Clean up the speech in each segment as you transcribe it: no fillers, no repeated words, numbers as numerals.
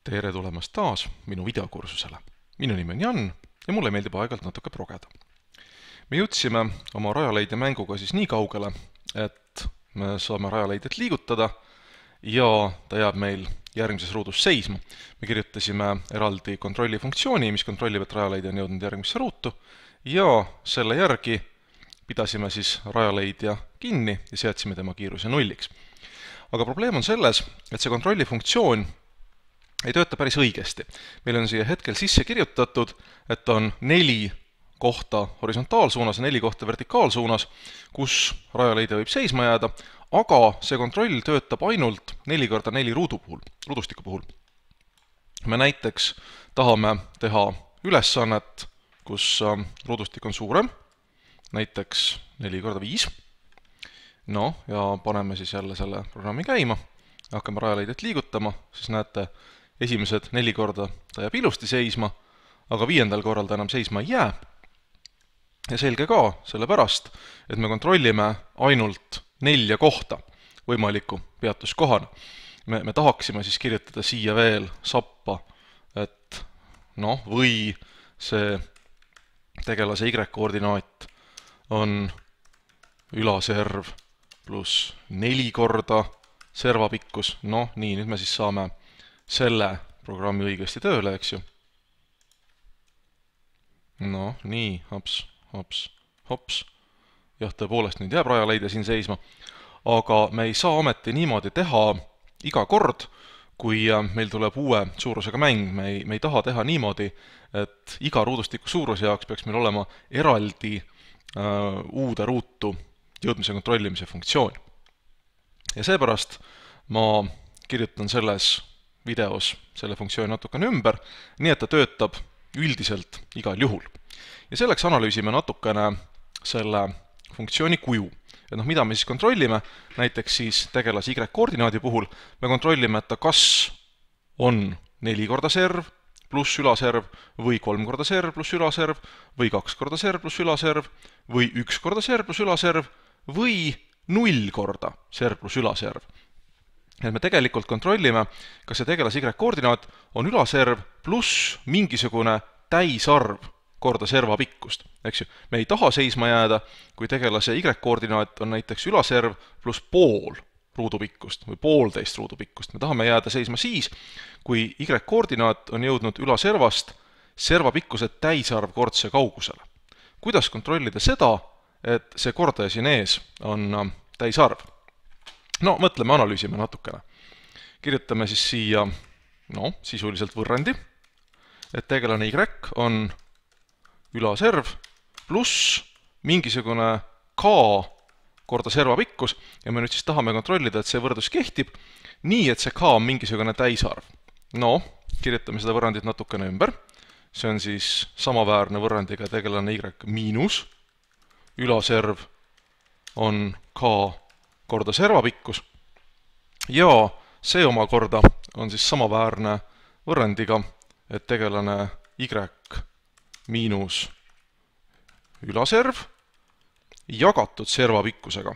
Tere tulemast taas minu videokursusele. Minu nimi on Jan ja mulle meeldib aeg-ajalt natuke progeda. Me jõudsime oma rajaleidja mänguga siis nii kaugele, et me saame rajaleidjat liigutada ja ta jääb meil järgmises ruudus seisma. Me kirjutasime eraldi kontrolli funktsiooni, mis kontrollib, et rajaleidja on jõudnud järgmisse ruutu ja selle järgi pidasime siis rajaleidja kinni ja seadsime tema kiiruse nulliks. Aga probleem on selles, et see kontrolli funktsioon ei tööta päris õigesti. Meil on siia hetkel sisse kirjutatud, et on 4 kohta horisontaalsuunas ja 4 kohta vertikaalsuunas, kus rajaleidja võib seisma jääda, aga see kontroll töötab ainult 4x4 ruudustiku puhul. Me näiteks tahame teha ülesannet, kus ruudustik on suurem, näiteks 4x5. No, ja paneme siis jälle selle programmi käima, hakkame rajaleidjat liigutama, siis näete, esimesed 4 korda ta jääb ilusti seisma, aga 5. korral ta enam seisma ei jää. Ja selge ka, sellepärast, et me kontrollime ainult 4 kohta võimaliku peatuskohana. Me tahaksime siis kirjutada siia veel sappa, et või see tegelase Y-koordinaat on ülaserv pluss 4 korda servapikkus. Nii, nüüd me siis saame selle programmi õigesti tööle, eks ju. Nii, hops. Jah, tõepoolest nüüd jääb rajaleidja siin seisma, aga me ei saa ometi niimoodi teha iga kord, kui meil tuleb uue suurusega mäng. Me ei taha teha niimoodi, et iga ruudustiku suuruse jaoks peaks meil olema eraldi uude ruutu jõudmise kontrollimise funktsioon. Ja seepärast ma kirjutan selles videos selle funktsiooni natukene ümber, nii et ta töötab üldiselt igal juhul. Ja selleks analüüsime natukene selle funktsiooni kuju. Et mida me siis kontrollime, näiteks siis tegelase Y-koordinaadi puhul, me kontrollime, et ta kas on 4 korda serv pluss ülaserv või 3 korda serv pluss ülaserv või 2 korda serv pluss ülaserv või 1 korda serv pluss ülaserv või 0 korda serv pluss ülaserv. Et me tegelikult kontrollime, kas see tegelase Y-koordinaat on ülaserv pluss mingisugune täisarv korda servapikkust. Eks ju, me ei taha seisma jääda, kui tegelase Y-koordinaat on näiteks ülaserv pluss pool ruudupikkust või 1,5 ruudupikkust. Me tahame jääda seisma siis, kui Y-koordinaat on jõudnud ülaservast servapikkuse täisarv kordse kaugusele. Kuidas kontrollida seda, et see kordaja siin ees on täisarv? Mõtleme, analüüsime natukene. Kirjutame siis siia sisuliselt võrrandi, et tegelane Y on ülaserv pluss mingisugune K korda servapikkus ja me nüüd siis tahame kontrollida, et see võrdlus kehtib nii, et see K on mingisugune täisarv. Kirjutame seda võrrandit natukene ümber. See on siis samaväärne võrrandiga tegelane Y miinus. Ülaserv on K korda servapikkus ja see omakorda on siis samaväärne võrrandiga, et tegelane Y miinus ülaserv jagatud servapikkusega.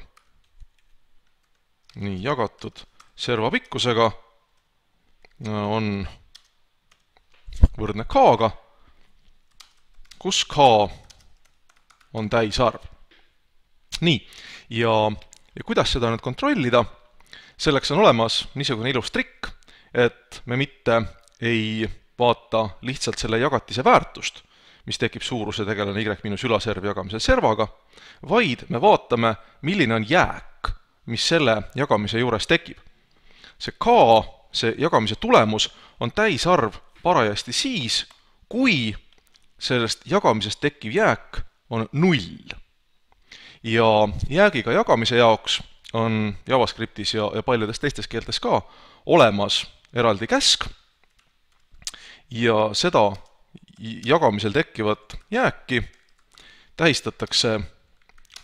Nii, jagatud servapikkusega on võrdne K-ga, kus K on täisarv. Nii, ja kuidas seda nüüd kontrollida? Selleks on olemas niisugune ilus trikk, et me mitte ei vaata lihtsalt selle jagatise väärtust, mis tekib suuruse tegelane Y miinus ülaserv jagamisel servaga, vaid me vaatame, milline on jääk, mis selle jagamise juures tekib. See K, see jagamise tulemus, on täisarv parajasti siis, kui sellest jagamisest tekkiv jääk on 0. Ja jäägiga jagamise jaoks on JavaScriptis ja paljudes teistes keeltes ka olemas eraldi käsk ja seda jagamisel tekkivat jääki tähistatakse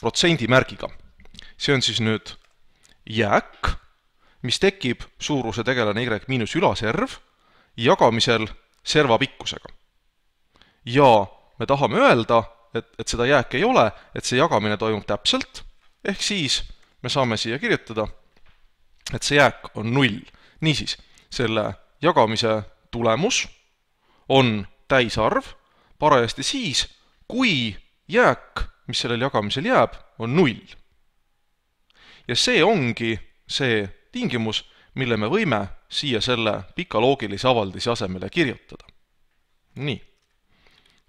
protsendimärgiga. See on siis nüüd jääk, mis tekib suuruse tegelane Y miinus ülaserv jagamisel servapikkusega. Ja me tahame öelda, et seda jääk ei ole, et see jagamine toimub täpselt, ehk siis me saame siia kirjutada, et see jääk on 0. Niisiis, selle jagamise tulemus on täisarv parajasti siis, kui jääk, mis sellel jagamisel jääb, on 0. Ja see ongi see tingimus, mille me võime siia selle pika loogilise avaldise asemele kirjutada. Nii,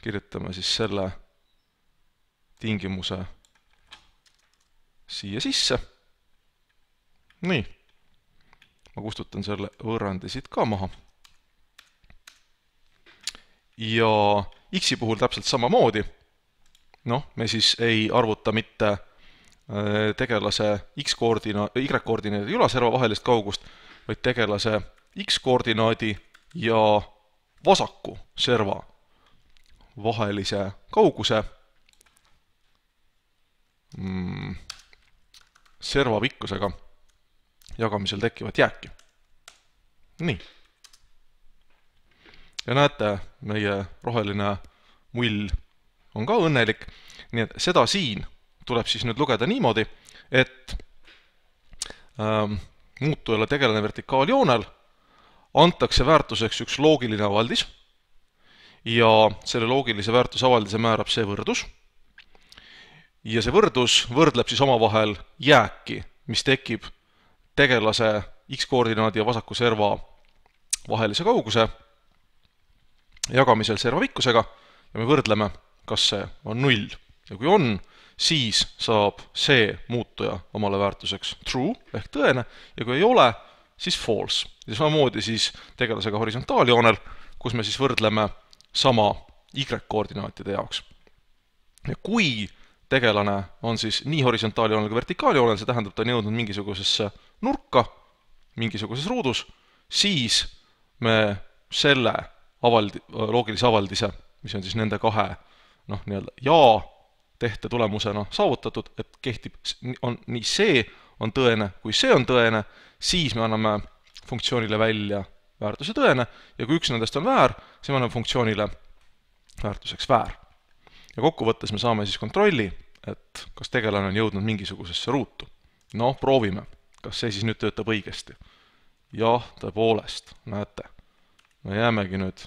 kirjutame siis selle tingimuse siia sisse. Nii, ma kustutan selle võrrandi siit ka maha. Ja x-i puhul täpselt samamoodi. Me siis ei arvuta mitte tegelase y-koordinaadi ülaserva vahelist kaugust, vaid tegelase x-koordinaadi ja vasaku serva vahelise kauguse serva pikkusega jagamisel tekkivat jääki. Nii. Ja näete, meie roheline mull on ka õnnelik, nii et seda siin tuleb siis nüüd lugeda niimoodi, et muutujale tegelane vertikaaljoonel antakse väärtuseks üks loogiline avaldis ja selle loogilise väärtusavaldise määrab see võrdus. Ja see võrdus võrdleb siis omavahel jääki, mis tekib tegelase x-koordinaadi ja vasaku serva vahelise kauguse jagamisel serva pikkusega ja me võrdleme, kas see on 0. Ja kui on, siis saab see muutuja omale väärtuseks true ehk tõene ja kui ei ole, siis false. Ja samamoodi siis tegelasega horisontaaljoonel, kus me siis võrdleme sama y-koordinaatide jaoks. Ja kui tegelane on siis nii horisontaaljoonel kui vertikaaljoonel, see tähendab, ta on jõudnud mingisugusesse nurka, mingisuguses ruudus, siis me selle loogilise avaldise, mis on siis nende kahe ja tehte tulemusena saavutatud, et kehtib nii see on tõene, kui see on tõene, siis me anname funktsioonile välja väärtuse tõene ja kui üks nendest on väär, siis me anname funktsioonile väärtuseks väär. Ja kokkuvõttes me saame siis kontrolli, et kas tegelane on jõudnud mingisugusesse ruutu. Proovime, kas see siis nüüd töötab õigesti. Jah, tõepoolest, näete. Me jäämegi nüüd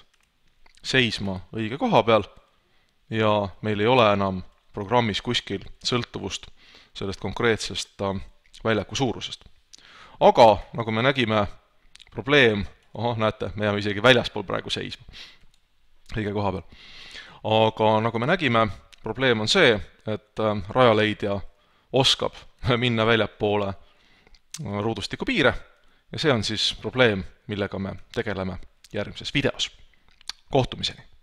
seisma õige koha peal ja meil ei ole enam programmis kuskil sõltuvust sellest konkreetsest väljaku suurusest. Aga, nagu me nägime, probleem, näete, me jääme isegi väljaspool praegu seisma õige koha peal. Aga nagu me nägime, probleem on see, et rajaleidja oskab minna väljapoole ruudustiku piire ja see on siis probleem, millega me tegeleme järgmises videos. Kohtumiseni!